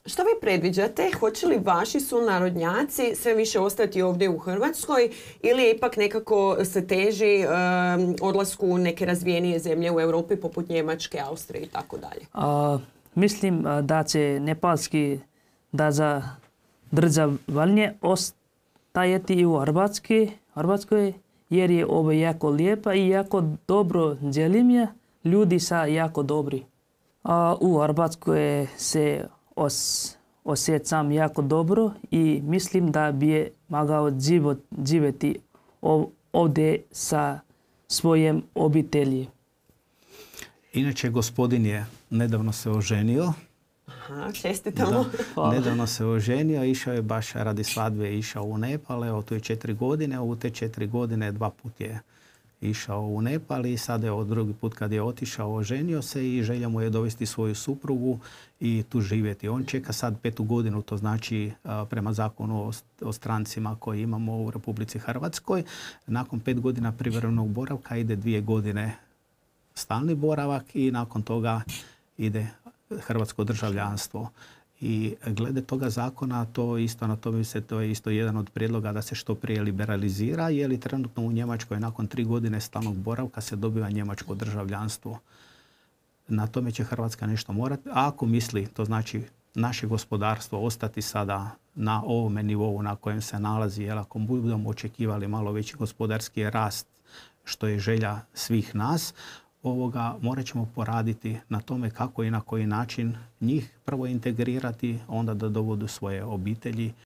Što vi predviđate? Hoće li vaši sunarodnjaci sve više ostati ovdje u Hrvatskoj ili ipak nekako se teži odlasku u neke razvijenije zemlje u Europi poput Njemačke, Austrije i tako dalje? Mislim da će nepalski da za državljenje ostajati i u Hrvatskoj jer je ovo jako lijepa i jako dobro zemlja, ljudi sa jako dobri. U Hrvatskoj se osjećam jako dobro i mislim da bi mogao živjeti ovdje sa svojim obitelji. Inače, gospodin je nedavno se oženio. Aha, čestitamo. Nedavno se oženio, išao je baš radi svadbe, išao u Nepal, evo tu je 4 godine, u te 4 godine 2 put je išao u Nepal i sada je drugi put kad je otišao, oženio se i želja mu je dovesti svoju suprugu i tu živjeti. On čeka sad 5. godinu, to znači prema zakonu o strancima koji imamo u Republici Hrvatskoj. Nakon 5 godina privremenog boravka ide 2 godine stalni boravak i nakon toga ide hrvatsko državljanstvo. I glede toga zakona, to je isto jedan od prijedloga da se što prije liberalizira, jer i trenutno u Njemačkoj nakon 3 godine stalnog boravka se dobiva njemačko državljanstvo. Na tome će Hrvatska nešto morati. A ako misli, to znači naše gospodarstvo ostati sada na ovome nivou na kojem se nalazi, jer ako budemo očekivali malo veći gospodarski rast, što je želja svih nas, morat ćemo poraditi na tome kako i na koji način njih prvo integrirati, onda da dovodu svoje obitelji